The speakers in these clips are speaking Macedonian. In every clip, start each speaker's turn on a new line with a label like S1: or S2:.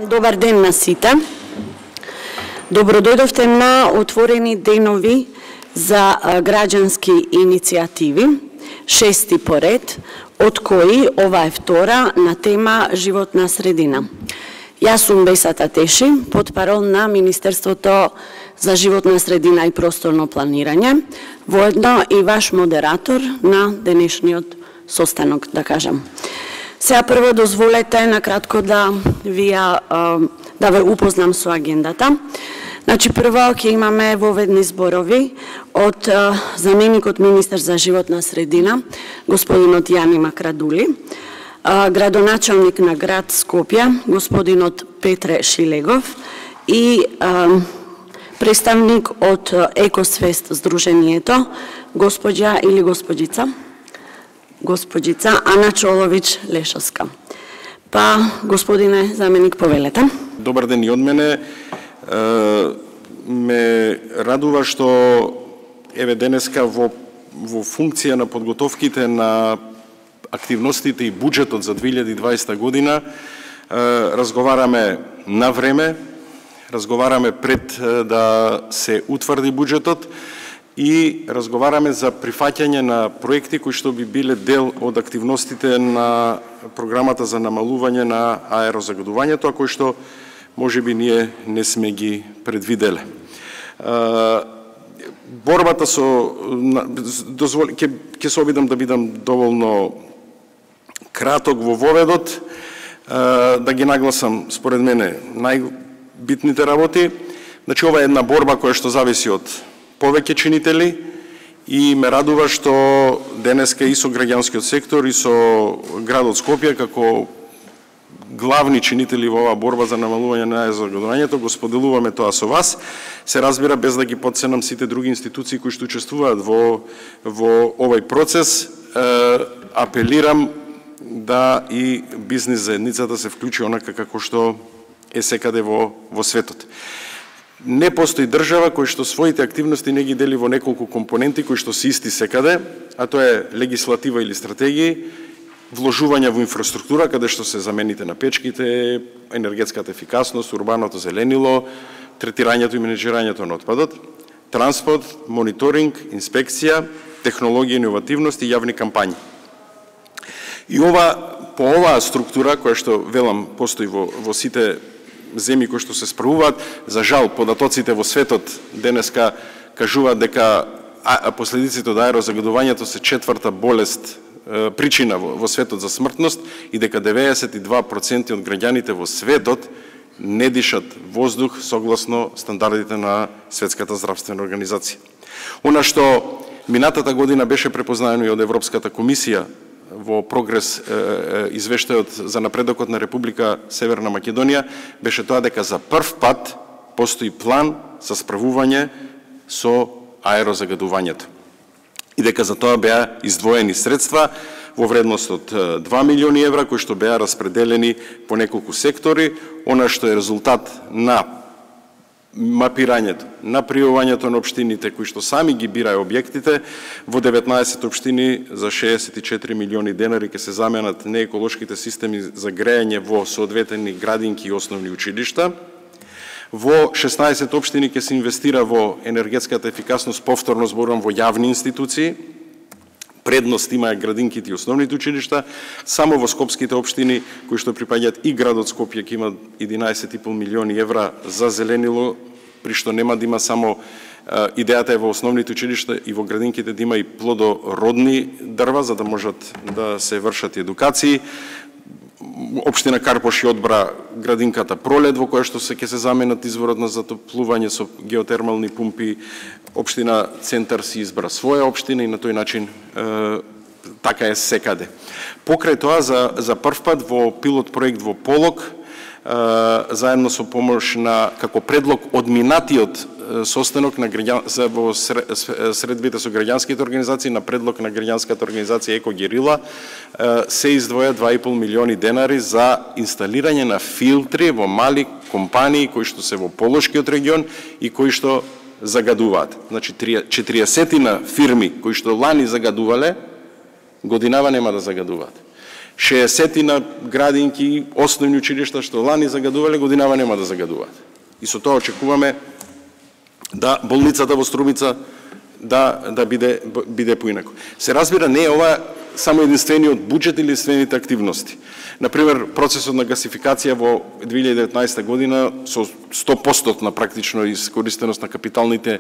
S1: Добар ден на сите. Добро дојдовте на отворени денови за граѓански иницијативи, 6 поред, од кои ова е втора на тема животна средина. Јас сум Бесата Теши, потпарол на Министерството за животна средина и просторно планирање, воедно и ваш модератор на денешниот состанок, да кажам. Сега прво дозволете накратко да ве упознам со агендата. Значи прво ќе имаме воведни зборови од заменикот министер за животна средина, господинот Јани Макрадули, градоначалник на град Скопје, господинот Петре Шилегов и представник од Екосвест Здруженијето, госпоѓа или госпоđica Ана Чолович Лешовска. Па, господине заменик, повелете.
S2: Добар ден и од мене. Ме радува што еве денеска во функција на подготовките на активностите и буџетот за 2020 година разговараме на време, разговараме пред да се утврди буџетот и разговараме за прифаќање на проекти кои што би биле дел од активностите на програмата за намалување на аерозагадувањето, а кои што можеби ние не сме ги предвиделе. Борбата со ќе се обидам да бидам доволно краток во воведот, да ги нагласам според мене најбитните работи. Значи ова е една борба која што зависи од повеќе чинители и ме радува што денеска и со граѓанскиот сектор и со градот Скопје како главни чинители во оваа борба за намалување на аерозагадувањето го споделуваме тоа со вас. Се разбира без да ги потценам сите други институции кои што учествуваат во овој процес. Апелирам да и бизнис заедницата се вклучи онака како што е секаде во светот. Не постои држава кој што своите активности не ги дели во неколку компоненти кои што се исти секаде, а тоа е легислатива или стратегии, вложување во инфраструктура, каде што се замените на печките, енергетската ефикасност, урбаното зеленило, третирањето и менеџирањето на отпадот, транспорт, мониторинг, инспекција, технологија, иновативност и јавни кампањи. И по оваа структура, која што велам постои во сите земји кои што се справуваат, за жал податоците во светот денеска кажуваат дека последиците од аерозагадувањето се 4-та болест, причина во светот за смртност и дека 92% од граѓаните во светот не дишат воздух согласно стандардите на Светската здравствена организација. Она што минатата година беше препознаено и од Европската комисија во прогрес извештајот за напредокот на Република Северна Македонија беше тоа дека за прв пат постои план за справување со аерозагадувањето. И дека за тоа беа издвоени средства во вредност од 2 милиони евра кои што беа распределени по неколку сектори, она што е резултат на мапирањето, на пријавувањето на општините кои што сами ги бираа објектите. Во 19 општини за 64 милиони денари ќе се заменат нееколошките системи за грејање во соодветни градинки и основни училишта. Во 16 општини ќе се инвестира во енергетската ефикасност, повторно зборувам во јавни институции. Предност имаат градинките и основните училишта. Само во скопските општини, кои што припаѓаат и градот Скопје, ќе имат 11,5 милиони евра за зеленило, при што нема да има само идејата е во основните училишта и во градинките да има и плодородни дрва, за да можат да се вршат едукации. Општина Карпош одбра градинката Пролет, во која што ќе се заменат изворот на затоплување со геотермални пумпи. Општина Центар си избра своја општина и на тој начин така е секаде. Покрај тоа, за прв пат во пилот проект во Полог, заедно со помош на, како предлог од минатиот состанок на во средбите со граѓанските организации, на предлог на граѓанската организација Еко Герила, се издвоја 2,5 милиони денари за инсталирање на филтри во мали компании кои што се во Полошкиот регион и кои што загадуваат. Значи 40 фирми кои што лани загадувале, годинава нема да загадуваат. 60 градинки, основни училишта што лани загадувале, годинава нема да загадуваат. И со тоа очекуваме да болницата во Струмица да биде поинако. Се разбира, не е ова само единствениот буџет или единствените активности. Например, процесот на гасификација во 2019 година со 100% практично искористеност на капиталните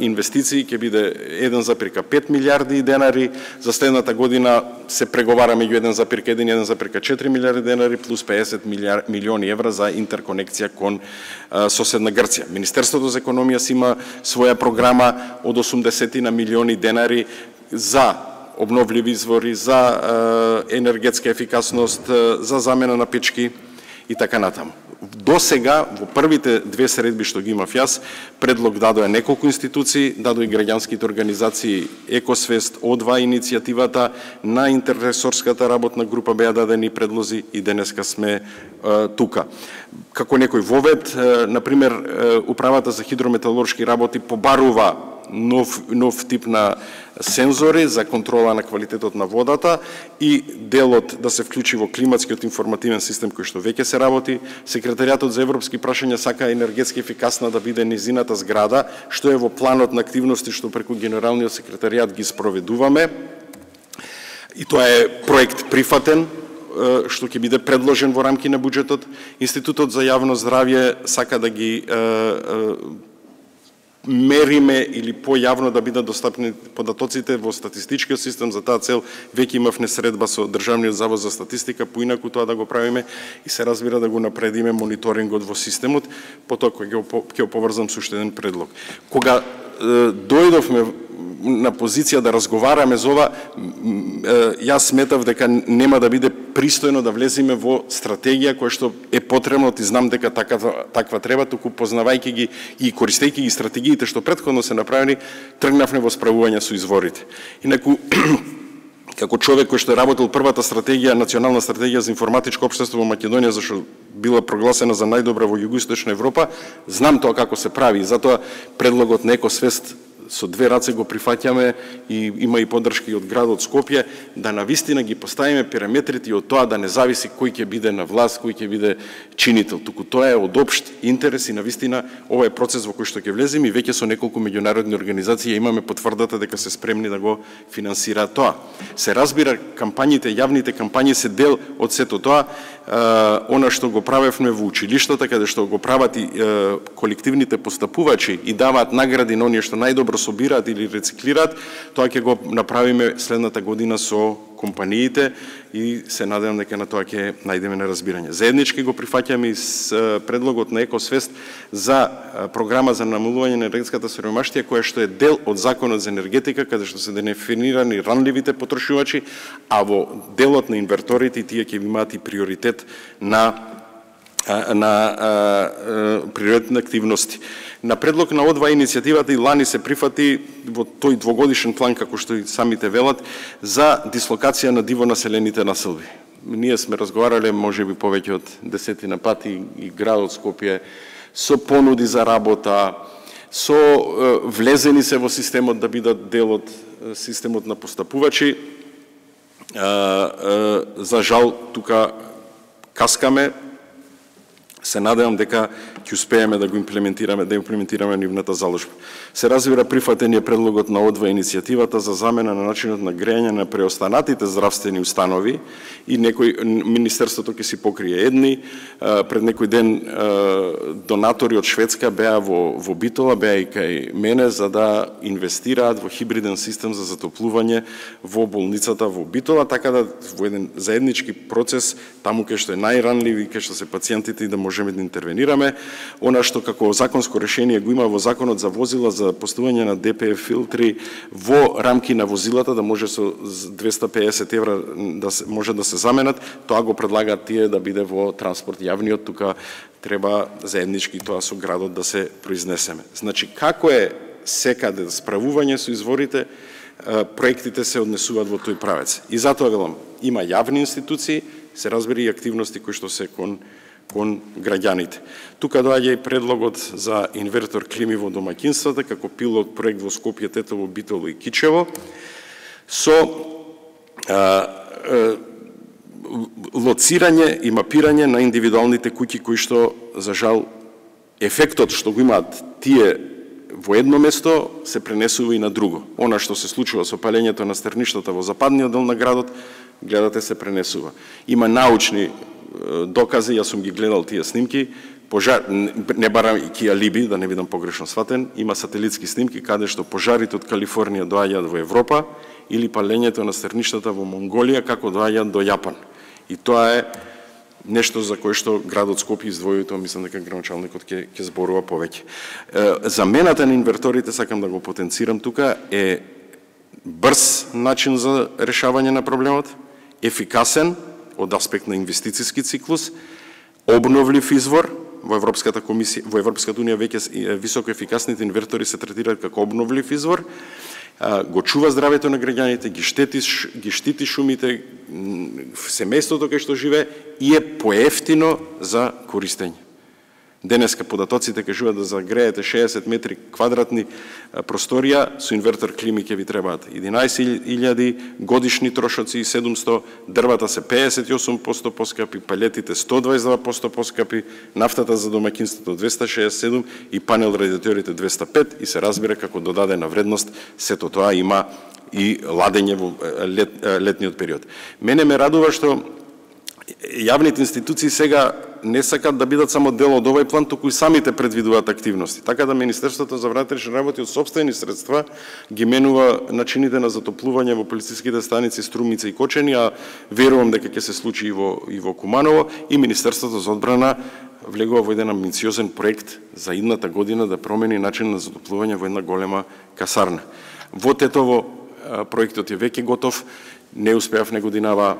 S2: инвестиции ќе биде 1,5 милиарди денари. За следната година се преговара меѓу 1,1 и 1,4 милиарди денари плюс 50 милиони евра за интерконекција кон соседна Грција. Министерството за економија си има своја програма од 80 милиони денари за обновливи извори, за енергетска ефикасност, за замена на печки и така натаму. До сега, во првите две средби што ги имав јас, предлог дадоа неколку институции, дадоа и граѓанските организации Екосвест, О2 иницијативата, на интерресорската работна група беа дадени предлози и денеска сме тука. Како некој вовед, например, Управата за хидрометалуршки работи побарува нов тип на сензори за контрола на квалитетот на водата и делот да се вклучи во климатскиот информативен систем кој што веќе се работи. Секретаријатот за европски прашања сака енергетски ефикасна да биде низината зграда, што е во планот на активности што преку генералниот секретаријат ги спроведуваме. И тоа е проект прифатен, што ќе биде предложен во рамки на буџетот. Институтот за јавно здравје сака да ги мериме или појавно да бидат достапни податоците во статистичкиот систем. За таа цел веќе имавме средба со Државниот завод за статистика, поинаку тоа да го правиме и се разбира да го напредиме мониторингот во системот, потоа ќе го поврзам со уште еден предлог. Кога дојдовме на позиција да разговараме за ова, јас сметав дека нема да биде пристојно да влеземе во стратегија која што е потребно, ти знам дека таква треба, туку познавајќи ги и користејќи ги стратегиите што претходно се направени, тргнавме во справување со изворите. Инаку, како човек кој што е работил првата стратегија, национална стратегија за информатичко општество во Македонија, зашто била прогласена за најдобра во Југоисточна Европа, знам тоа како се прави, затоа предлогот на Екосвест со две раце го прифаќаме и има и поддршки од градот Скопје, да навистина ги поставиме параметрите и од тоа да не зависи кој ќе биде на власт, кој ќе биде чинител. Туку тоа е од општ интерес и навистина ова е процес во кој што ќе влеземе и веќе со неколку меѓународни организации имаме потврдата дека се спремни да го финансираат тоа. Се разбира, кампањите, јавните кампањи се дел од сето тоа. Она што го правевме во училиштата, каде што го прават и колективните постапувачи и даваат награди на оние што најдобро собираат или рециклираат, тоа ќе го направиме следната година со компаниите и се надевам дека на тоа ќе најдеме неразбирање. Заеднички го прифаќаме и с предлогот на Екосвест за програма за намалување на енергетската сиромаштија, која што е дел од Законот за енергетика, каде што се дефинирани ранливите потрошувачи, а во делот на инверторите тие ќе имаат и приоритет на приоритетни активности. На предлог на О2 иницијативата и лани се прифати во тој двогодишен план, како што и самите велат, за дислокација на диво населените населби. Ние сме разговарале можеби повеќе од 10 пати и градот Скопје со понуди за работа, со влезени се во системот да бидат дел од системот на постапувачи. За жал, тука каскаме. Се надевам дека ќе успееме да го имплементираме нивната заложба. Се разбира, прифатен е предлогот на О2 иницијативата за замена на начинот на грејање на преостанатите здравствени установи и Министерството ќе си покрие едни. Пред некој ден донатори од Шведска беа во Битола, беа и кај мене, за да инвестираат во хибриден систем за затоплување во болницата во Битола, така да во еден заеднички процес, таму кај што е најранливи, кај што се пациентите и да можеме да интервенираме. Она што како законско решение го има во Законот за возила за поставување на ДПФ филтри во рамки на возилата, да може со 250 евра може да се заменат, тоа го предлагаат тие да биде во транспорт јавниот, тука треба заеднички тоа со градот да се произнесеме. Значи, како е секаде справување со изворите, проектите се однесуваат во тој правец. И затоа велам, има јавни институции, се разбери и активности кои што се кон граѓаните. Тука доаѓа и предлогот за инвертор клими во домаќинствата, како пилот проект во Скопје, Тетово, Битола и Кичево, со лоцирање и мапирање на индивидуалните куќи кои што, за жал, ефектот што го имаат тие во едно место се пренесува и на друго. Она што се случува со палењето на стерништата во западниот дел на градот, гледате, се пренесува. Има научни докази, јас сум ги гледал тие снимки, пожар, не барам и ки алиби, да не бидам погрешно сватен, има сателитски снимки каде што пожарите од Калифорнија доаѓаат во Европа или палењето на стерништата во Монголија како доаѓаат до Јапан. И тоа е нешто за кое што градот Скопје издвои, тоа мислам дека градоначалникот ќе зборува повеќе. Замената на инверторите, сакам да го потенцирам тука, е брз начин за решавање на проблемот, ефикасен од аспект на инвестициски циклус, обновлив извор. Во Европската комисија, во Европската унија веќе високо ефикасните инвертори се третираат како обновлив извор, го чува здравето на граѓаните, ги штити шумите, семејството кај што живее и е поевтино за користење. Денеска податоците кажуваат да загреете 60 метри квадратни просторија, со инвертор клими ќе ви требаат 11.000 годишни трошоци и 700, дрвата се 58% поскапи, палетите 122% поскапи, нафтата за домаќинството 267 и панел радиаторите 205 и се разбира како додадена вредност сето тоа има и ладење во летниот период. Мене ме радува што јавните институции сега не сакат да бидат само дел од овој план, туку и самите предвидуваат активности. Така да Министерството за внатрешни работи од сопствени средства ги менува начините на затоплување во полициските станици Струмица и Кочани, а верувам дека ќе се случи и во Куманово, и Министерството за одбрана влегува во еден амбициозен проект за идната година да промени начин на затоплување во една голема касарна. Во Тетово проектот е веќе готов. Не успеав негодинава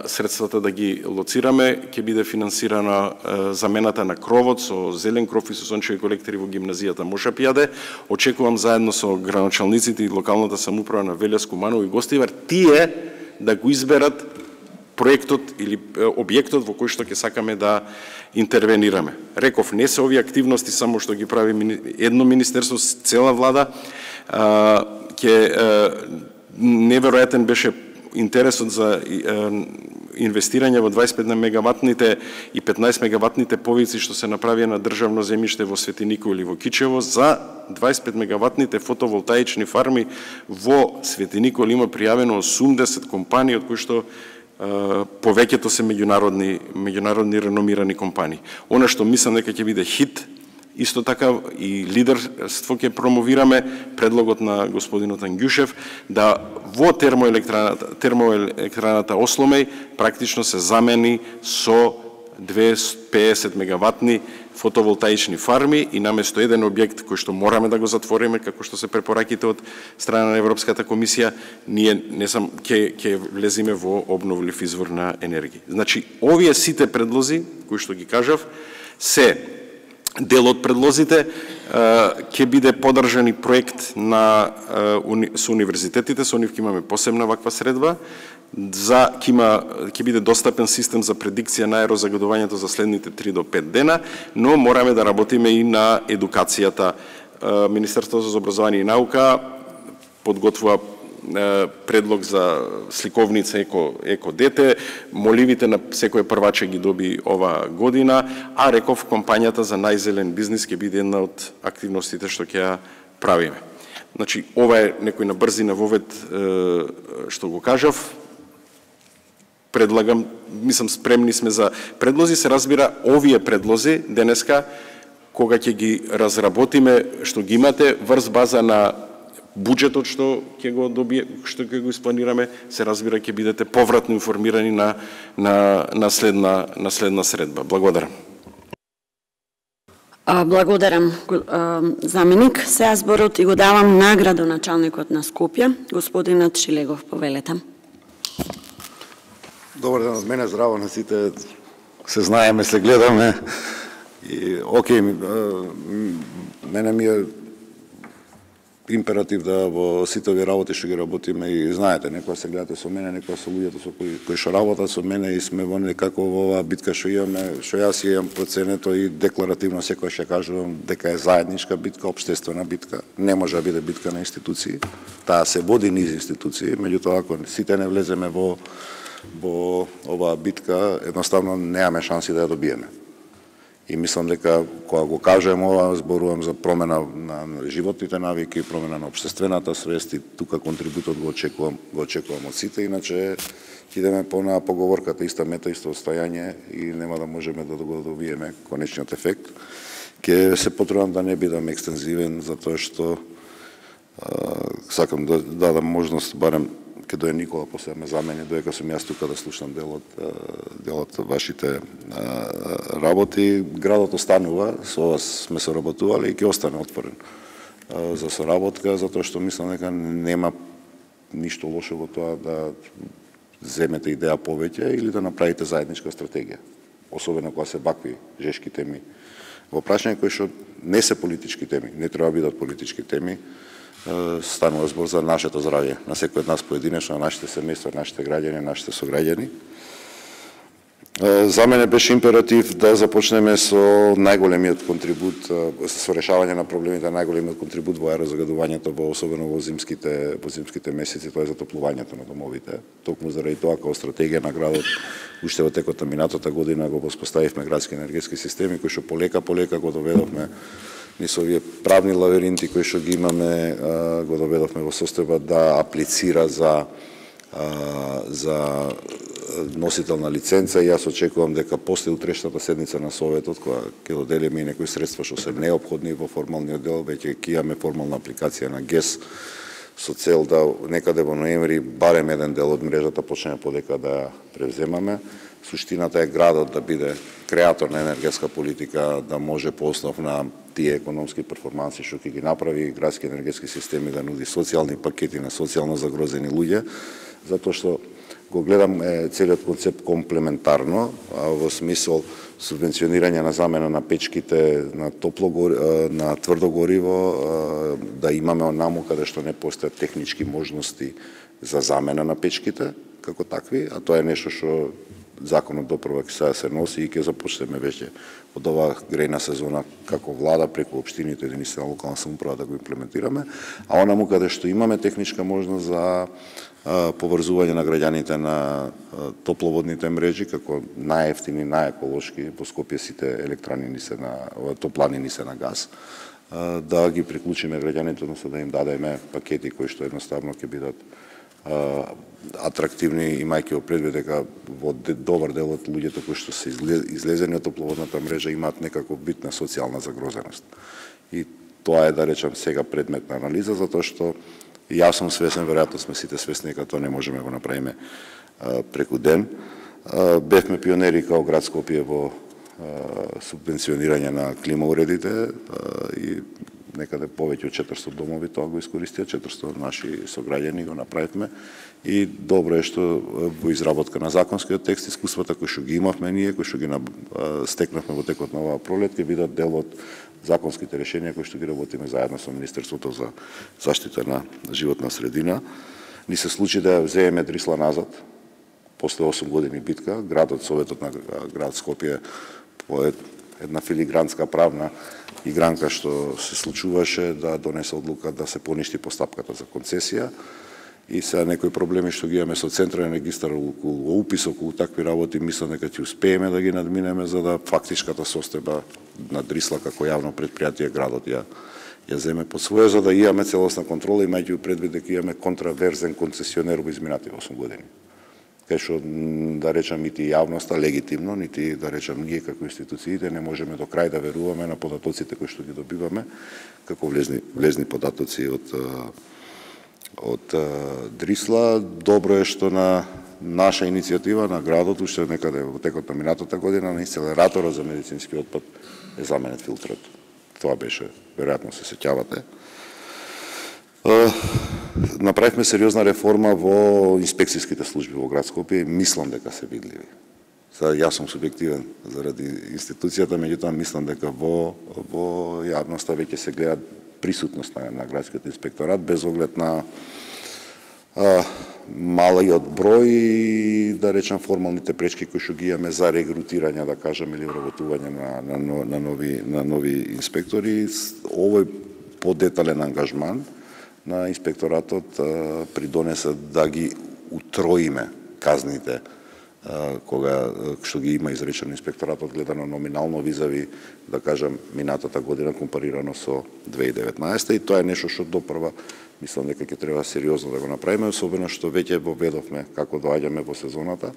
S2: средствата да ги лоцираме, ќе биде финансирана замената на кровот со зелен кров и со сончеви колектори во гимназијата Моша Пијаде. Очекувам заедно со градоначалниците и локалната самоуправа на Велес, Куманово и Гостивар тие да го изберат проектот или објектот во кој што ќе сакаме да интервенираме. Реков, не се овие активности само што ги прави едно министерство, цела влада, неверојатен беше интересот за инвестирање во 25 мегаватните и 15 мегаватните повици што се направија на државно земјиште во Свети Никој или во Кичево. За 25 мегаватните фотоволтаични фарми во Свети Никој има пријавено 80 компании, од кои што повеќето се меѓународни реномирани компании. Она што мислам дека ќе биде хит, исто така и лидерство ќе промовираме, предлогот на господинот Ангјушев, да во термоелектраната Осломеј практично се замени со 250 мегаватни фотоволтаични фарми и наместо еден објект кој што мораме да го затвориме, како што се препораките од страна на Европската комисија, ние ќе влезиме во обновлив извор на енергија. Значи, овие сите предлози, кои што ги кажав, се дел од предлозите. Ќе биде подржан и проект со универзитетите, со нив ќе имаме посебна ваква средба, ќе биде достапен систем за предикција на аерозагадувањето за следните 3 до 5 дена, но мораме да работиме и на едукацијата. Министерството за образование и наука подготвува предлог за сликовница Еко дете, моливите на секој прваче ги доби ова година, а реков кампањата за најзелен бизнис ќе биде една од активностите што ќе ја правиме. Значи, ова е некој на брзина вовед што го кажав. Предлагам, мислам, спремни сме за предлози, се разбира, овие предлози денеска, кога ќе ги разработиме, што ги имате, врз база на буџетот што ќе го добие, што ќе го испланираме, се разбира ќе бидете повратно информирани на следна средба. Благодарам.
S1: Благодарам, заменик. Сега зборот и го давам на градоначалникот на Скопје, господинот Шилегов, повелете.
S3: Добар ден од мене, здраво на сите, се знаеме, се гледаме. И, окей, мене ми е императив да во сите овие работи што ги работиме и знаете, некоја се гледате со мене, некоја со луѓето со кои што работат со мене и сме во некако во оваа битка што имаме, што јас имам проценето и декларативно секој ќе кажувам дека е заедничка битка, општествена битка, не може да биде битка на институции, таа се води низ институции, меѓутоа ако сите не влеземе во во оваа битка едноставно немаме шанси да ја добиеме. И мислам дека кога го кажем ова, зборувам за промена на животните навики, промена на општествената свест и тука контрибутот го очекувам од сите, иначе идеме по поговорката иста мета, исто отстајање и нема да можеме да го добиеме конечниот ефект. Ке се потрудам да не бидам екстензивен, затоа што сакам да дадам можност барем ке дојде Никола после ме замени, доека сум јас тука да слушам делот вашите работи. Градот останува, со вас сме соработували и ќе остане отворен за соработка, затоа што мислам дека нема ништо лошо во тоа да земете идеја повеќе или да направите заедничка стратегија. Особено кога се вакви жешки теми во прашање кои што не се политички теми, не треба да бидат политички теми. Станува збор за нашето здравје, на секој од нас поединечно, на нашите семејства, нашите граѓани, нашите сограѓани. За мене беше императив да започнеме со најголемиот контрибут, со решавање на проблемите, најголемиот контрибут во аерозагадувањето, особено во зимските месеци, тоа е затоплувањето на домовите. Токму заради тоа, како стратегија на градот, уште во текот на минатата година го воспоставивме градски енергетски системи, кои што полека го доведовме низ овие правни лавиринти кои што ги имаме, го доведовме во состојба да аплицира за носител на лиценца и јас очекувам дека после утрешната седница на Советот, кога ќе доделиме и некои средства што се неопходни во формалниот дел, веќе ќе имаме формална апликација на ГЕС со цел да некаде во ноември барем еден дел од мрежата почнеме подека да превземаме. Суштината е градот да биде креатор на енергетска политика, да може по основ на тие економски перформанси што ќе ги направи градски енергетски системи да нуди социјални пакети на социјално загрозени луѓе, затоа што го гледам целиот концепт комплементарно, во смисол субвенционирање на замена на печките на на тврдо гориво, да имаме онаму каде што не постојат технички можности за замена на печките како такви, а тоа е нешто што законот допрва ќе се носи и ќе започнеме веќе од оваа грејна сезона како влада преку општините, единици на локална самоуправа да го имплементираме, а онаму каде што имаме техничка можност за поврзување на граѓаните на топловодните мрежи како најевтини, најеколошки, во Скопје сите електрани ни се на топлани ни се на газ, да ги приклучиме граѓаните, односно да им дадеме пакети кои што едноставно ќе бидат атрактивни, имајќи во предвид дека во добар дел од луѓето кои што се излезени од топловодната мрежа имаат некако битна социјална загрозеност. И тоа е, да речам, сега предмет на анализа, затоа што јас сум свесен, веројатно сме сите свесни дека тоа не можеме го направиме преку ден. Бевме пионери као град Скопје во субвенционирање на климауредите и некаде повеќе од 400 домови тоа го искористија, 400 наши сограѓани го направивме и добро е што во изработка на законскиот текст искуствата кои што ги имавме ние, кои што ги стекнавме во текот на оваа пролет, ќе бидат дел од законските решенија кои што ги работиме заедно со Министерството за заштита на животна средина. Ни се случи да земеме Дрисла назад, после 8 години битка, градот, Советот на град Скопје по една филигранска правна игранка што се случуваше да донесе одлука да се поништи постапката за концесија и сега некои проблеми што ги имаме со централен регистар околу упис, околу такви работи, мислам дека ќе успееме да ги надминеме за да фактичката состојба на Дрисла како јавно предпријатие градот ја земе под своја, за да имаме целосна контрола, имајќи предвид дека имаме контраверзен концесионер во изминати 8 години. Кај што, да речам, нити јавноста легитимно, нити, да речам, ние како институциите не можеме до крај да веруваме на податоците кои што ги добиваме, како влезни податоци од Дрисла. Добро е што на наша иницијатива на градот, уште некаде во текот на минатата година, на инцинераторот за медицински отпад е заменет филтрот. Тоа беше, веројатно се сеќавате. Направивме сериозна реформа во инспекцијските служби во град Скопје и мислам дека се видливи. Сега јас сум субјективен заради институцијата, меѓутоа мислам дека во јавноста веќе се гледа присутност на градскиот инспекторат без оглед на малиот број и, да речам, формалните пречки кои што ги имаме за регрутирање, да кажам, или вработување на нови инспектори. Овој подетален ангажман на инспекторатот придонесе да ги утроиме казните кога што ги има изречено инспекторатот гледано номинално визави, да кажам, минатата година компарирано со 2019 и тоа е нешто што допрва мислам дека ќе треба сериозно да го направиме, особено што веќе воведовме како доаѓаме во сезоната,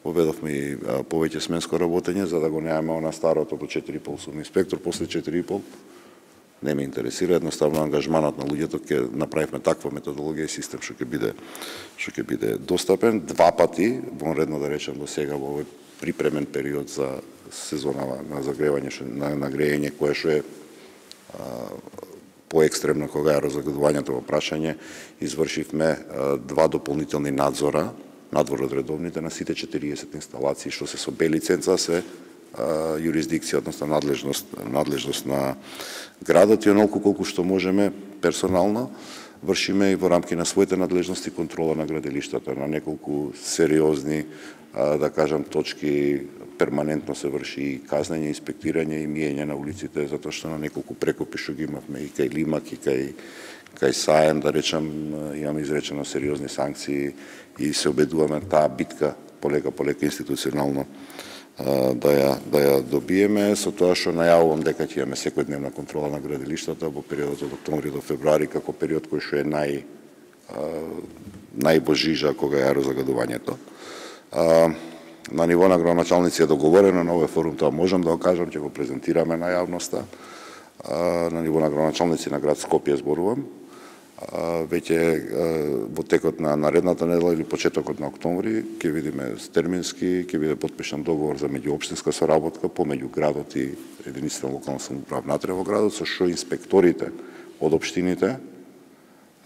S3: воведовме и повеќе сменско работење за да го немаме она старото до 4,5 сум инспектор, после 4,5 не ме интересира, едноставно ангажманот на луѓето ќе направиме таква методологија и систем што ќе биде достапен два пати, вонредно да речем до сега во овој припремен период за сезона на загревање на грејење кое што е поекстремно кога е разгадувањето во прашање, извршивме два дополнителни надзора надвор од редовните на сите 40 инсталации што се со Б лиценца се юрисдикција, односно надлежност на градот и онолку колку што можеме персонално вршиме и во рамки на своите надлежности контрола на градилиштата на неколку сериозни да кажам точки перманентно се врши и казнење, инспектирање и миење на улиците затоа што на неколку прекопи што ги имавме и кај Лимак и кај Саем да речам имаме изречено сериозни санкции и се обедуваме таа битка полека институционално да ја добиеме, со тоа што најавувам дека ќе имаме секојдневна контрола на градилиштата во периодот од октомври до февруари како период кој што е најбожижа кога е аерозагадувањето. На ниво на градоначалници е договорено на овој форум, тоа можам да го кажам, ќе го презентираме на јавноста. На ниво на градоначалници на град Скопје зборувам. Веќе во текот на наредната недела или почетокот на октомври ќе видиме термински, ќе биде потпишан договор за меѓуопштинска соработка помеѓу градот и единиците на локална самоуправа внатре во градот, со што инспекторите од општините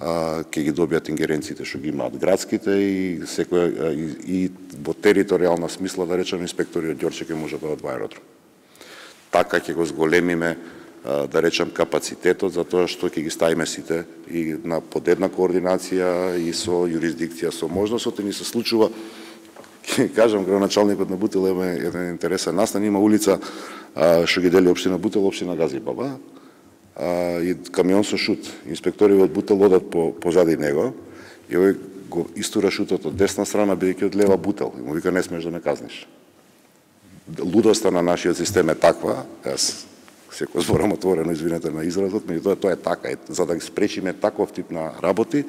S3: ќе ги добијат ингеренциите што ги имаат градските и секој и во територијална смисла да речем инспектори од Ѓорче ќе може да одат во аеродром. Така ќе го зголемиме да речем капацитетот за тоа што ќе ги ставиме сите и на под една координација и со юрисдикција со можностот и ни се случува ќе кажам градоначалникот на Бутел има еден интересен настан, има улица што ги дели општина Бутел, општина Газибаба и камион со шут. Инспектори од Бутел одат позади него и овој го истура шутот од десна страна бидејќи од лева Бутел и му вика не смеш да ме казниш. Лудоста на нашиот систем е таква, јас секој зборам отворено, извинете на изразот, меѓутоа тоа е така. За да ги спречиме таков тип на работи,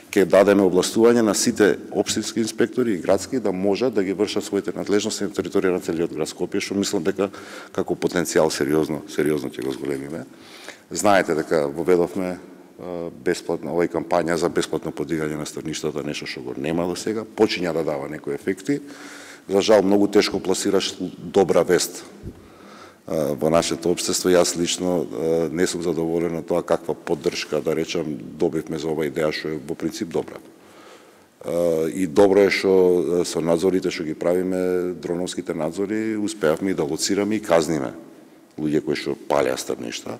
S3: ќе дадеме областување на сите општински инспектори и градски да можат да ги вршат своите надлежности на територија на целиот град Скопје, што мислам дека како потенцијал сериозно ќе го зголемиме. Знаете дека воведовме бесплатна овој кампања за бесплатно подигање на страништата, нешто што го нема до сега, почиња да дава некои ефекти. За жал многу тешко пласираш добра вест во нашето општество. Јас лично не сум задоволен од тоа каква поддршка, да речам, добивме за оваа идеја што е во принцип добра. И добро е што со надзорите што ги правиме, дроновските надзори, успеавме и да лоцираме и казниме луѓе кои што палеа стапништа.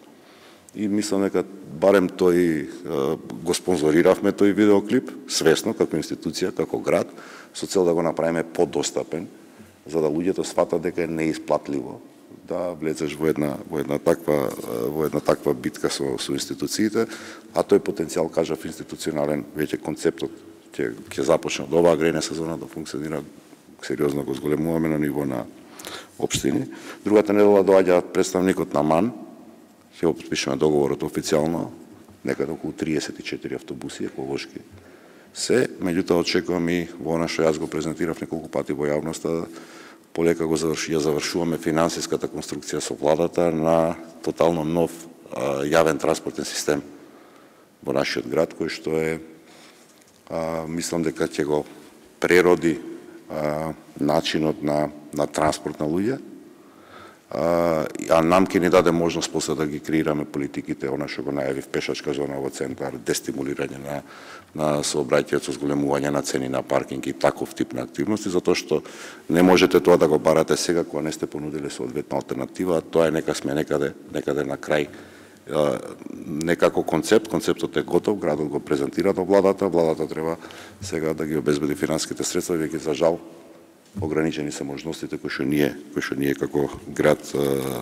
S3: И мислам дека барем тој го спонзориравме тој видеоклип, свесно, како институција, како град, со цел да го направиме подостапен, за да луѓето сватат дека е неисплатливо да влезеш во една таква битка со институциите, а тој потенцијал, кажав, институционален, веќе концептот ќе започне од оваа грејна сезона да функционира, сериозно го зголемуваме на ниво на општини. Другата недела доаѓа представникот на МАН, ќе го подпишеме договорот официјално, некаде околу 34 автобуси еколошки се, меѓутоа очекувам и во она што јас го презентирав неколку пати во јавноста, полека ја завршуваме финансиската конструкција со владата на тотално нов јавен транспортен систем во нашиот град, кој што е, мислам дека ќе го прероди начинот на транспорт на луѓе, а нам ќе ни даде можност после да ги креираме политиките, она што го најавив, пешачка зона во центар, дестимулирање на сообраќајот со зголемување на цени на паркинг и таков тип на активности, затоа што не можете тоа да го барате сега кога не сте понудили соодветна алтернатива, а тоа е нека сме некаде на крај. Некако концептот е готов, градот го презентира до владата треба сега да ги обезбеди финансиските средства, веќе за жал ограничени се можностите кои што ние како град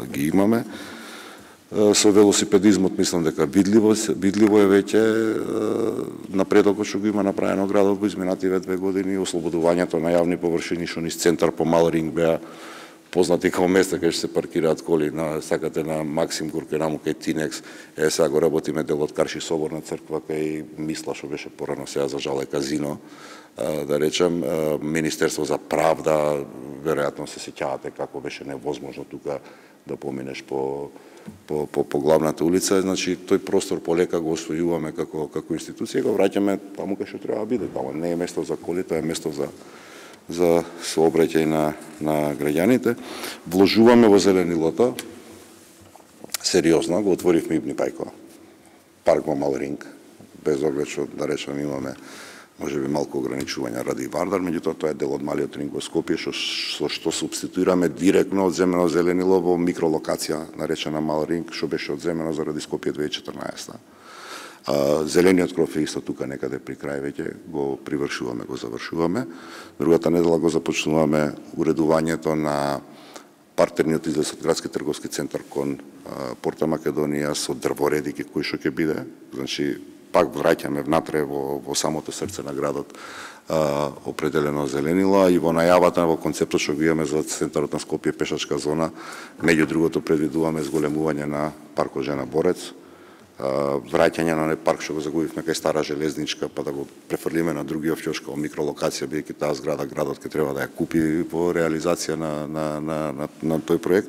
S3: ги имаме. Со велосипедизмот мислам дека видливо е веќе напредокот што го има направено градот во изминативе 2 години, ослободувањето на јавни површини што низ центар по Мал Ринг беа познати како места кај што се паркираат коли, сакате на Максим Горки, рамо кај Тинекс, сега го работиме дел од Карши соборна црква кај Мисла што беше порано, сега за жал е казино, да речем, Министерство за правда, веројатно се сеќавате како беше невозможно тука да поминеш по главната улица, значи тој простор полека го освојуваме како институција, го враќаме таму кај што треба да биде, таму не е место за коли, тоа е место за сообраќај на граѓаните. Вложуваме во зеленилото, сериозно, го отворивме Ибни Пајко, парк во Мал Ринг, без оглед што, да речем, имаме можеби малку ограничувања ради Вардар, меѓутоа тоа е дел од малиот ринг во Скопје, со што субституираме директно одземено зеленило во микролокација наречена Мал Ринг, што беше одземено заради Скопје 2014. Зелениот кров е исто тука некаде при крај веќе, го привршуваме, го завршуваме. Другата недела го започнуваме уредувањето на партерниот излез од градски трговски центар кон Порта Македонија со дрвореди кој што ќе биде, значи пак враќаме внатре во самото срце на градот определено зеленило, и во најавата во концептот што го имаме за центарот на Скопје пешачка зона, меѓу другото предвидуваме зголемување на паркот Жена Борец, враќање на парк што го загубивме кај Стара железничка, па да го префрлиме на другиот ќош како микролокација, бидејќи таа зграда градот ќе треба да ја купи во реализација на тој проект.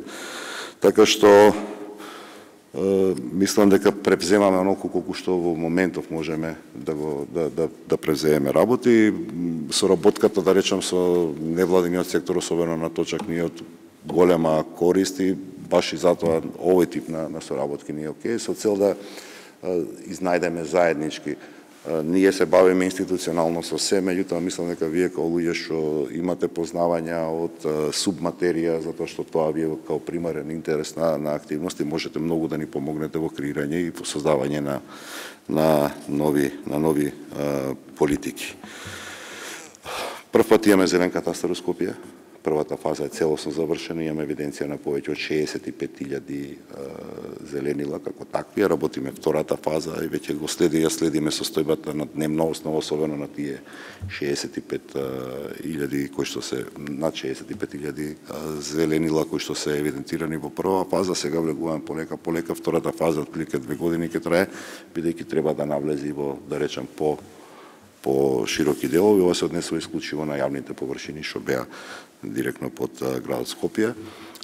S3: Така што мислам дека превземаме онолку колку што во моментов можеме да превземеме работи. Соработката, да речем, со невладиниот сектор, особено на точак, ни од голема корист и баш и затоа овој тип на соработки ни е окей, со цел да изнајдеме заеднички. Ние се бавиме институционално со се, меѓутоа мислам дека вие како луѓе што имате познавања од субматерија, затоа што тоа ви е како примарен интерес на активности, можете многу да ни помогнете во креирање и во создавање на нови политики. Прв пат имаме зелен катастар во Скопје. Првата фаза е целосно завршена, имаме евиденција на повеќе од 65.000 зеленила како такви. Работиме втората фаза и веќе го следиме состојбата на дневна основа, особено на тие 65.000 кои што се над 65.000 зеленила кои што се евидентирани во прва фаза. Сега влегуваме полека. Втората фаза отприлike 2 години ќе трае, бидејќи треба да навлези во, да речем, по широки делови. Ова се однесува исклучиво на јавните површини што беа директно под градот Скопје.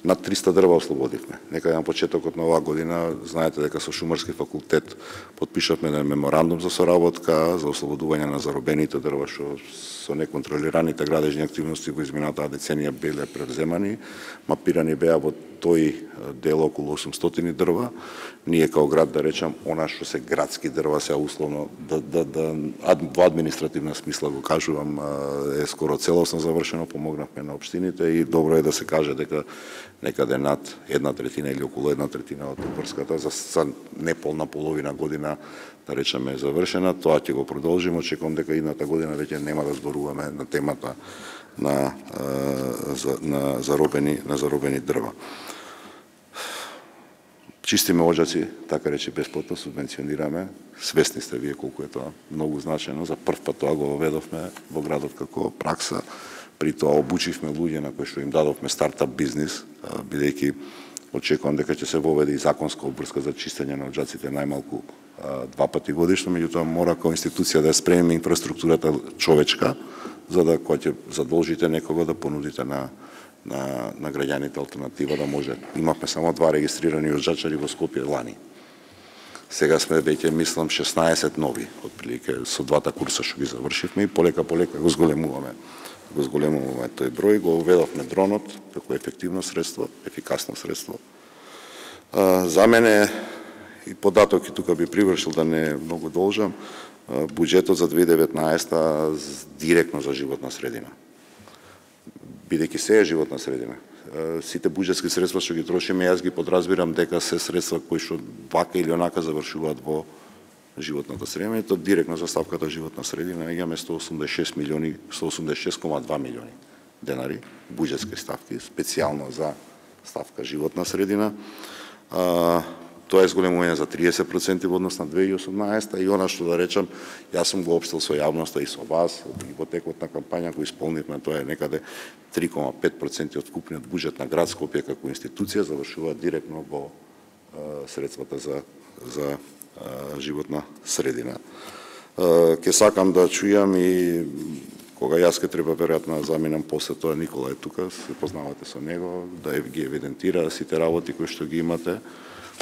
S3: Над 300 дрва ослободивме. Некаде на почетокот на оваа година, знаете дека со Шумарски факултет подпишавме меморандум за соработка за ослободување на заробените дрва што со неконтролираните градежни активности во изминатата деценија биле превземани. Мапирани беа во тој дел околу 800 дрва. Ние као град, да речем, она што се градски дрва, се условно во административна смисла го кажувам, е скоро целосно завршено, помогнавме на општините и добро е да се каже дека некаде над 1/3 или околу 1/3 од Врската за неполна половина година, да речеме, е завршена. Тоа ќе го продолжиме, очекувам дека идната година веќе нема да зборуваме на темата на заробени дрва. Чистиме оџаци, така рече, бесплатно субвенционираме. Свесни сте вие колку е тоа многу значено. За прв пат тоа го воведовме во градот како пракса. При тоа обучивме луѓе на кои што им дадовме стартап бизнис, бидејќи очекувам дека ќе се воведе и законска обврска за чистење на оџаците најмалку 2 пати годишно, меѓутоа мора како институција да ја спремиме инфраструктурата човечка, за да кога ќе задолжите некого да понудите на граѓаните алтернатива да може. Имавме само 2 регистрирани оџачари во Скопје лани. Сега сме веќе, мислам, 16 нови, отприлike со 2 курса што ги завршивме и полека го зголемуваме тој број. Го уведовме дронот како ефективно средство, ефикасно средство. За мене и податок, и тука би привршил да не многу должам, буџетот за 2019 директно за животна средина. Бидејќи се е животна средина. Сите буџетски средства што ги трошиме, јас ги подразбирам дека се средства кои што вака или онака завршуваат во животната средина, и тоа директно за ставката животна средина имаме 186,2 милиони денари буџетски ставки, специјално за ставка животна средина. Тоа е зголемување за 30% во однос на 2018 и она што да речам, јас сум го општил со јавноста и со вас и во текот на кампања кој исполнивме, тоа е некаде 3,5% од вкупниот буџет на град Скопје како институција завршува директно во средствата за животна средина. Ке сакам да чујам и кога јас ке треба веројатно да заминам после тоа, Никола е тука, се познавате со него, да ги евидентира сите работи кои што ги имате.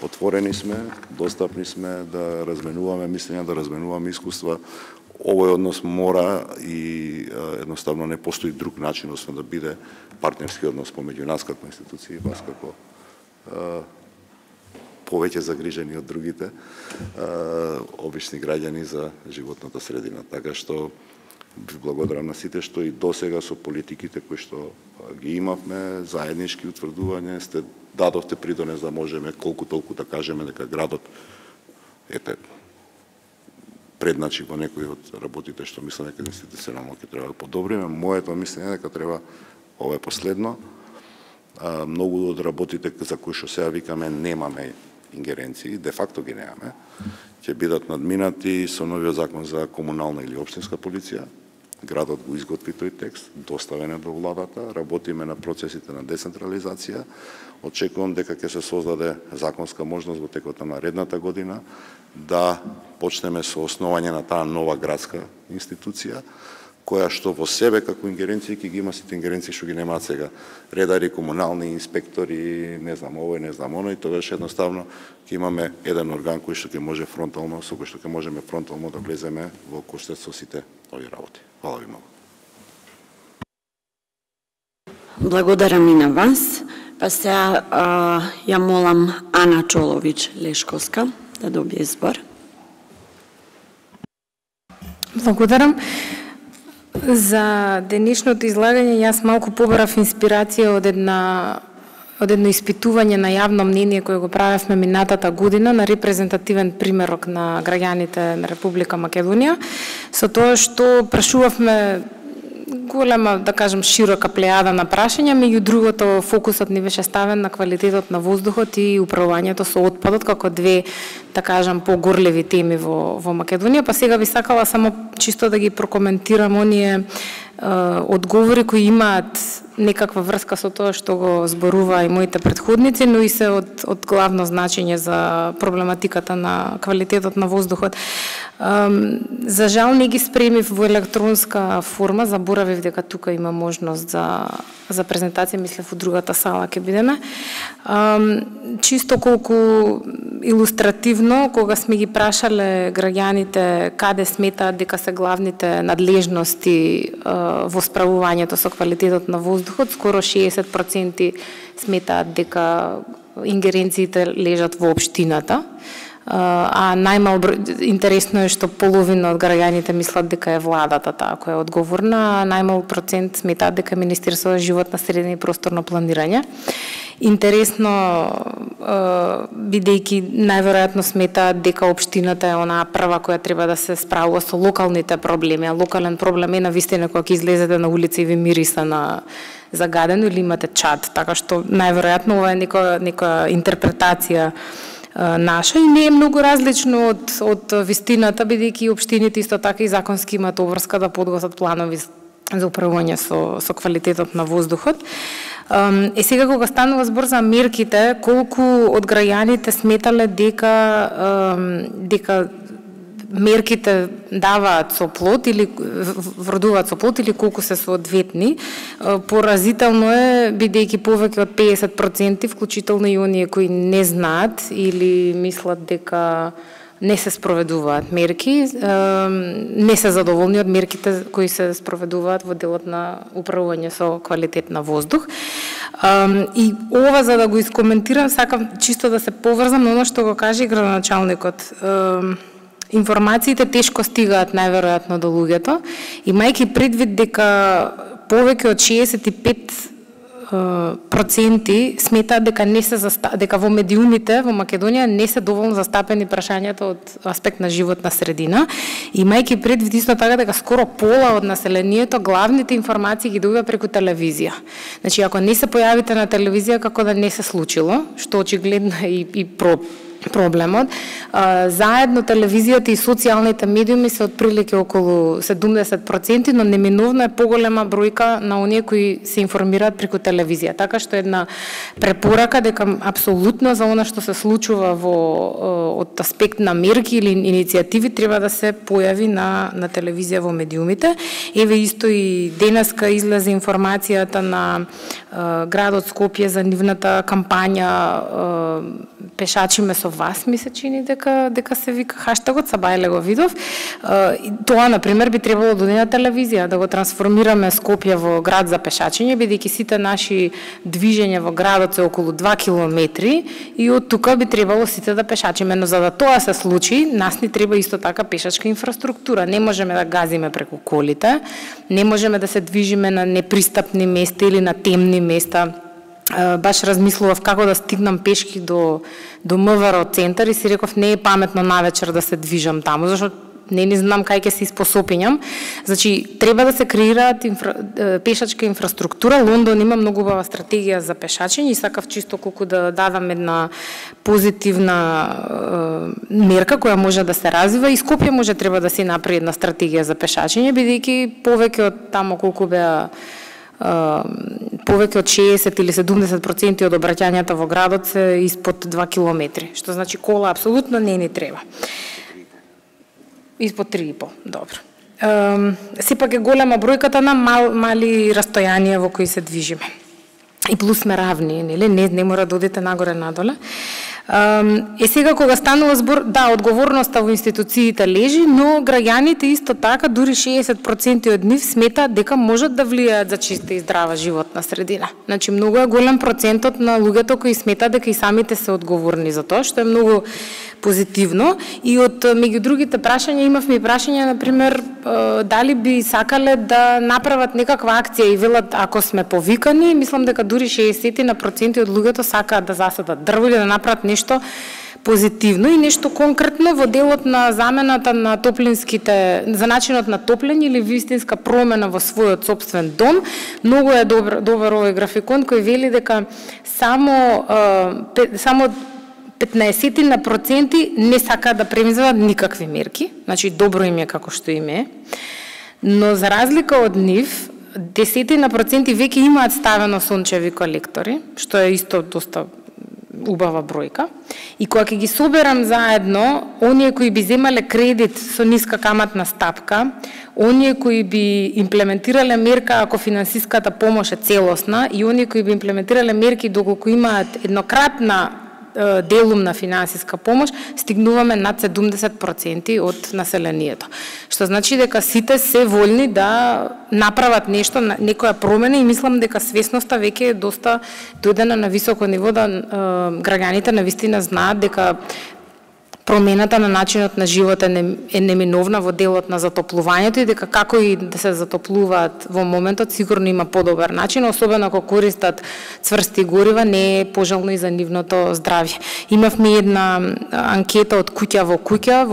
S3: Отворени сме, достапни сме да разменуваме мислења, да разменуваме искуства. Овој однос мора и едноставно не постои друг начин освен да биде партнерски однос помеѓу нас како институции и вас како повеќе загрижени од другите обични граѓани за животната средина. Така што ви благодарам на сите што и досега со политиките кои што ги имавме, заеднички утврдување, сте дадовте придонес да можеме колку толку да кажеме дека градот предначи во некои од работите што мислам дека институционално ќе треба да подобриме. Моето мислење е дека треба, ова е последно, многу од работите за кои што сега викаме немаме ингеренции, де факто ги немаме, ќе бидат надминати со новиот закон за комунална или општинска полиција. Градот го изготви тој текст, доставен е до владата, работиме на процесите на децентрализација. Очекувам дека ќе се создаде законска можност во текот на наредната година да почнеме со основање на таа нова градска институција, која што во себе како ингеренции ќе ги има сите ингеренции што ги немаат сега. Редари, комунални инспектори, не знам овој, не знам оној, тогаш едноставно ќе имаме еден орган кој што ќе може фронтално, со кој што ќе можеме фронтално да влеземе во коштец со сите овие работи. Хвала ви многу.
S1: Благодарам и на вас. Па сега ја молам Ана Чолович-Лешковска да добие збор.
S4: Благодарам. За денешното излагање јас малку побарав инспирација од едно испитување на јавно мнение кое го правевме минатата година на репрезентативен примерок на граѓаните на Република Македонија, со тоа што прашувавме голема, да кажем, широка плејада на прашања, меѓу другото фокусот ни беше ставен на квалитетот на воздухот и управувањето со отпадот како две, да кажем, погорливи теми во Македонија. Па сега би сакала само чисто да ги прокоментирам оние одговори кои имаат некаква врска со тоа што го зборува и моите претходници, но и се од главно значење за проблематиката на квалитетот на воздухот. За жал не ги спремив во електронска форма, заборавив дека тука има можност за презентација, мислев во другата сала ќе бидеме. Чисто колку илустративно, кога сме ги прашале граѓаните каде сметаат дека се главните надлежности во справувањето со квалитетот на воздухот, скоро 60% сметаат дека ингеренциите лежат во општината. А интересно е што половина од граѓаните мислат дека е владата таа која е одговорна, а најмал процент сметаат дека Министерството за животна средина и просторно планирање. Интересно, бидејќи најверојатно сметаат дека општината е онаа прва која треба да се справува со локалните проблеми, а локален проблем е навистина кога ќе излезете на улица и ви мириса на загадено или имате чад, така што најверојатно ова е нека интерпретација наша и не е многу различно од вистината, бидејќи општините исто така и законски имаат обврска да подготват планови за управување со квалитетот на воздухот. Сега кога станува збор за мерките, колку од граѓаните сметале дека мерките даваат со плод или вродуваат со плод или колку се соодветни. Поразително е, бидејќи повеќе од 50%, вклучително и оние кои не знаат или мислат дека не се спроведуваат мерки, не се задоволни од мерките кои се спроведуваат во делот на управување со квалитет на воздух. И ова, за да го искоментирам, сакам чисто да се поврзам на оно што го каже градоначалникот. Информациите тешко стигаат најверојатно до луѓето, имајќи предвид дека повеќе од 65% сметаат дека во медиумите во Македонија не се доволно застапени прашањата од аспект на животна средина, имајќи предвид исто така дека скоро пола од населението главните информации ги добива преку телевизија. Значи, ако не се појавите на телевизија, како да не се случило, што очигледно е и проблемот. Заедно телевизијата и социјалните медиуми се отприлike околу 70%, но неминовно е поголема бројка на оние кои се информираат преку телевизија. Така што една препорака дека апсолутно за она што се случува од аспект на мерки или иницијативи треба да се појави на телевизија во медиумите. Еве исто и денеска излезе информацијата на градот Скопје за нивната кампања Пешачиме со вас, ми се чини дека се вика хаштагот, Сабајле го видов. Тоа, например, би требало да оди на телевизија, да го трансформираме Скопје во град за пешачење, бидејќи сите наши движења во градот се околу 2 километри и од тука би требало сите да пешачиме. Но за да тоа се случи, нас ни треба исто така пешачка инфраструктура. Не можеме да газиме преку колите, не можеме да се движиме на непристапни места или на темни места. Баш размислував како да стигнам пешки до МВР центар и си реков не е паметно навечер да се движам таму, зашто не знам кај ќе се испосопињам. Значи, треба да се креираат пешачка инфраструктура. Лондон има многу убава стратегија за пешачење и сакав чисто колку да дадам една позитивна мерка која може да се развива и Скопје може треба да се направи една стратегија за пешачење, бидејќи повеќе од таму колку беа повеќе од 60 или 70% од обраќањата во градот се испод 2 километри, што значи кола апсолутно не ни треба. Испод 3,5, добро. Сепак е голема бројката на мали растојанија во кои се движиме. И плюс сме равни, нели? Не мора да одите нагоре-надоле. Сега кога станува збор, да, одговорноста во институциите лежи, но граѓаните исто така, дури 60% од нив сметаат дека можат да влијаат за чиста и здрава животна средина. Значи, многу е голем процентот на луѓето кои сметаат дека и самите се одговорни за тоа, што е многу позитивно. И од меѓу другите прашања имавме и прашања, например, дали би сакале да направат некаква акција и велат ако сме повикани, мислам дека дури 60% од луѓето сакаат да засадат дрво или да направат нешто позитивно и нешто конкретно во делот на замената на топлинските, за начинот на топлење или вистинска промена во својот сопствен дом. Многу е добар овој графикон кој вели дека само 15% не сакаат да предвидат никакви мерки, значи добро им е како што им е, но за разлика од нив, 10% веќе имаат ставено сончеви колектори, што е исто доста убава бројка. И кога ќе ги соберам заедно, оние кои би земале кредит со ниска каматна стапка, оние кои би имплементирале мерка ако финансиската помош е целосна и оние кои би имплементирале мерки доколку имаат еднократна делум на финансиска помош, стигнуваме над 70% од населението. Што значи дека сите се вољни да направат нешто, некоја промена и мислам дека свесноста веќе е доста дојдена на високо ниво, да граѓаните навистина знаат дека промената на начинот на живот е неминовна во делот на затоплувањето и дека како и да се затоплуваат во моментот сигурно има подобар начин, особено ако користат цврсти горива, не е пожелно и за нивното здравје. Имавме една анкета од куќа во куќа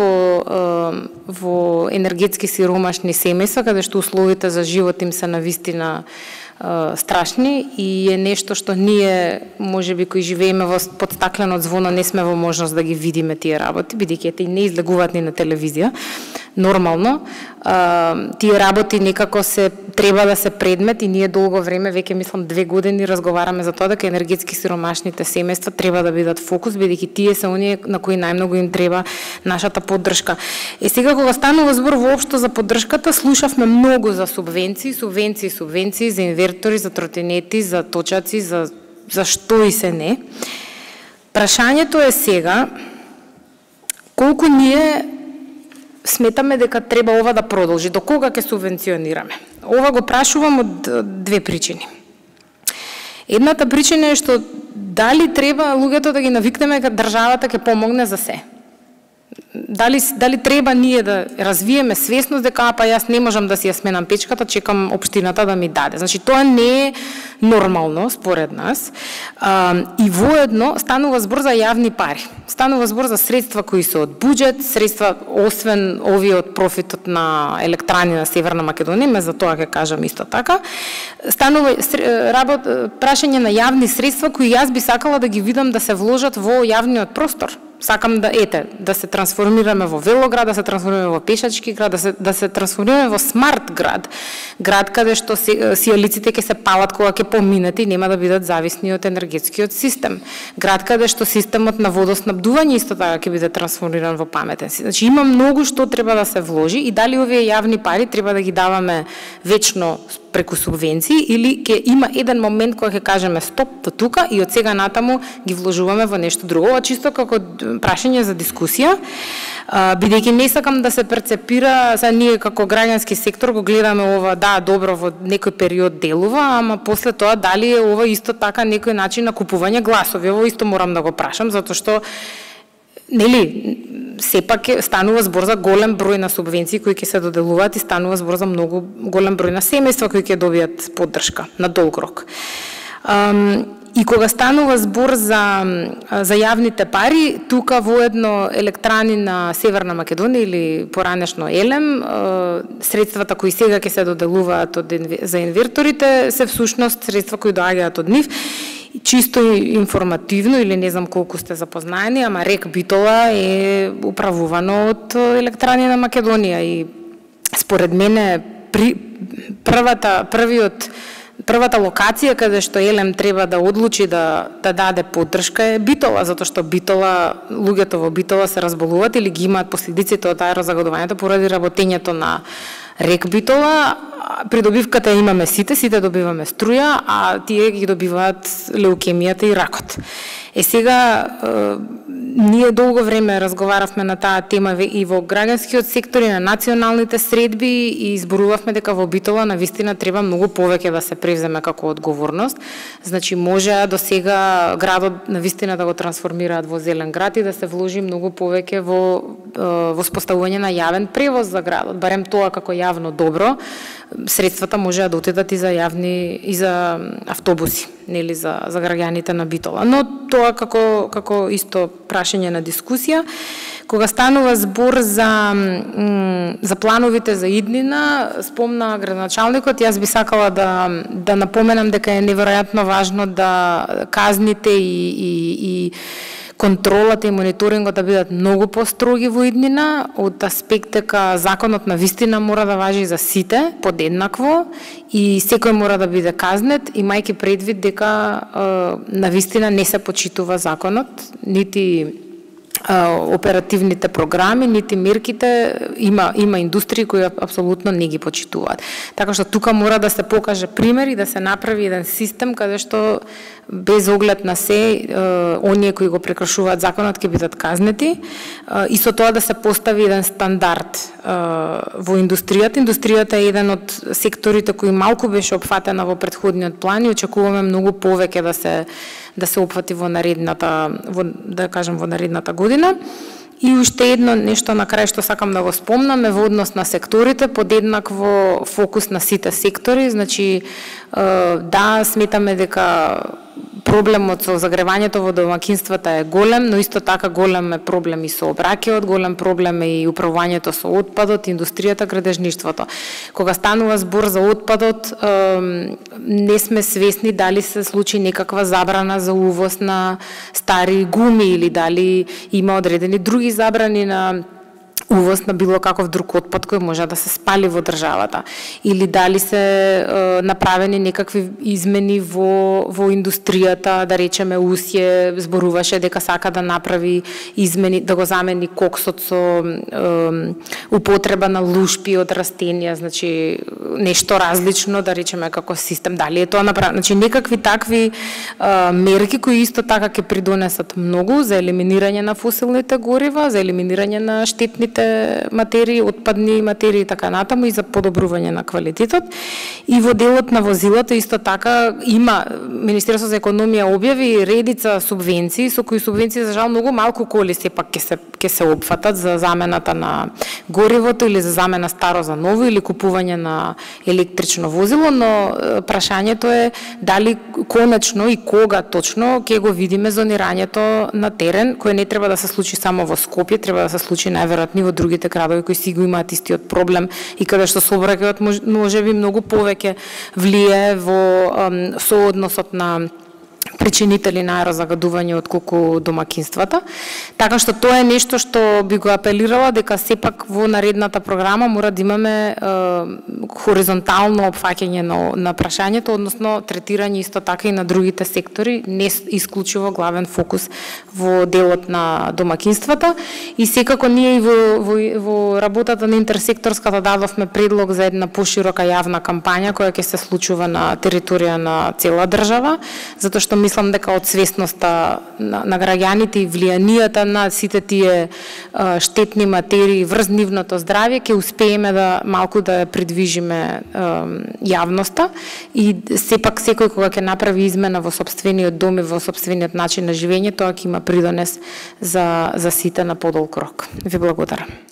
S4: во енергетски сиромашни семејства, каде што условите за живот им се навистина страшни и е нешто што ние, можеби кои живееме под стакленот звоно, не сме во можност да ги видиме тие работи, бидејќи те не излегуваат ни на телевизија. Нормално, тие работи некако треба да се предмет и ние долго време, веќе мислам 2 години, разговараме за тоа дека енергетски сиромашните семејства треба да бидат фокус, бидејќи тие се оние на кои најмногу им треба нашата поддршка. Сега кога станува збор воопшто за поддршката, слушавме многу за субвенции за инвертори, за тротинети, за точаци, за што и се не. Прашањето е сега колку ние сметаме дека треба ова да продолжи, до кога ќе субвенционираме. Ова го прашувам од 2 причини. Едната причина е што дали треба луѓето да ги навикнеме дека државата ќе помогне за се. Дали треба ние да развиеме свесност дека па јас не можам да си ја сменам печката, чекам општината да ми даде. Значи тоа не е нормално според нас. И воедно станува збор за јавни пари. Станува збор за средства кои се од буџет, средства освен овие од профитот на електрани на Северна Македонија, за тоа ќе кажам исто така. Станува прашање на јавни средства кои јас би сакала да ги видам да се вложат во јавниот простор. сакам да се трансформираме во велоград, да се трансформираме во пешачки град, да се трансформираме во смарт град. Град каде што сијалиците ќе се палат кога ќе поминете и нема да бидат зависни од енергетскиот систем. Град каде што системот на водоснабдување исто така ќе биде трансформиран во паметен. Значи има многу што треба да се вложи и дали овие јавни пари треба да ги даваме вечно преку субвенции или ќе има еден момент кога ќе кажеме стоп до тука и од сега натаму ги вложуваме во нешто друго. Ова чисто како прашање за дискусија, бидејќи не сакам да се перцепира, сега ние како граѓански сектор го гледаме ова, да, добро во некој период делува, ама после тоа дали е ова исто така некој начин на купување гласови. Ово исто морам да го прашам, затоа што нели сепак станува збор за голем број на субвенции кои ќе се доделуваат и станува збор за многу голем број на семејства кои ќе добијат поддршка на долг рок. И кога станува збор за јавните пари, тука воедно електрани на Северна Македонија или поранешно ЕЛЕМ, средствата кои сега ќе се доделуваат за инверторите се всушност средства кои доаѓаат од нив. Чисто информативно, или не знам колку сте запознаени, ама РЕК Битола е управувано од електрани на Македонија и според мене првата локација каде што ЕЛЕМ треба да одлучи да даде поддршка е Битола, затоа што луѓето во Битола се разболуваат или ги имаат последиците од аерозагадувањето поради работењето на РЕК Битола. Придобивката имаме сите добиваме струја, а тие ги добиваат леукемијата и ракот. Сега, ние долго време разговаравме на таа тема и во граѓанскиот сектор и на националните средби и изборувавме дека во Битола навистина треба многу повеќе да се превземе како одговорност. Значи, може до сега градот навистина да го трансформираат во зелен град и да се вложи многу повеќе во споставување на јавен превоз за градот, барем тоа како јавно добро. Средствата може да отидат и за автобуси, нели за граѓаните на Битола. Но тоа како исто прашање на дискусија. Кога станува збор за плановите за иднина, спомна градоначалникот, јас би сакала да напоменам дека е неверојатно важно да казните и контролата и мониторингот да бидат многу построги во иднина, од аспект дека законот на вистина мора да важи за сите подеднакво и секој мора да биде казнет, имајќи предвид дека на вистина не се почитува законот, нити оперативните програми, нити мерките, има индустрии кои апсолутно не ги почитуваат. Така што тука мора да се покаже пример и да се направи еден систем каде што без оглед на се, оние кои го прекршуваат законот ќе бидат казнети и со тоа да се постави еден стандард во индустријата. Индустријата е еден од секторите кои малку беше опфатена во претходниот план и очекуваме многу повеќе да се опфати во наредната година. И уште едно нешто на крај што сакам да го спомнам е во однос на секторите, подеднакво фокус на сите сектори, значи да, сметаме дека проблемот со загревањето во домакинствата е голем, но исто така голем е проблем и со обраќајот, голем проблем е и управувањето со отпадот, индустријата, градежништвото. Кога станува збор за отпадот, не сме свесни дали се случи некаква забрана за увоз на стари гуми или дали има одредени други забрани на увоз на било каков друг отпад кој може да се спали во државата, или дали се направени некакви измени во индустријата, да речеме УСјЕ зборуваше дека сака да направи измени, да го замени коксот со употреба на лушпи од растенија, значи нешто различно, да речеме како систем, дали е тоа направено, значи некакви такви мерки кои исто така ќе придонесат многу за елиминирање на фосилните горива, за елиминирање на штетните материи, отпадни материи и така натаму и за подобрување на квалитетот. И во делот на возилата исто така има Министерство за економија објави редица субвенции, со кои субвенции за жал многу малку коли сепак ќе се опфатат за замената на горивото или за замена старо за ново или купување на електрично возило, но прашањето е дали конечно и кога точно ќе го видиме зонирањето на терен, кој не треба да се случи само во Скопје, треба да се случи најверојатно во другите градови кои си го имаат истиот проблем и каде што сообраќајот може би многу повеќе влие во соодносот на причинители на аерозагадување отколку домакинствата. Така што тоа е нешто што би го апелирала дека сепак во наредната програма мора да имаме хоризонтално опфаќање на прашањето, односно третирање исто така и на другите сектори, не исклучиво главен фокус во делот на домакинствата. И секако ние и во работата на интерсекторската дадовме предлог за една поширока јавна кампања која ќе се случува на територија на цела држава, затоа што мислам дека од свесноста на граѓаните и влијанијата на сите тие штетни материи врз нивното здравје ќе успееме да малку да придвижиме јавноста и сепак секој кога ќе направи измена во сопствениот дом и во сопствениот начин на живење, тоа ќе има придонес за сите на подолг рок. Ви благодарам.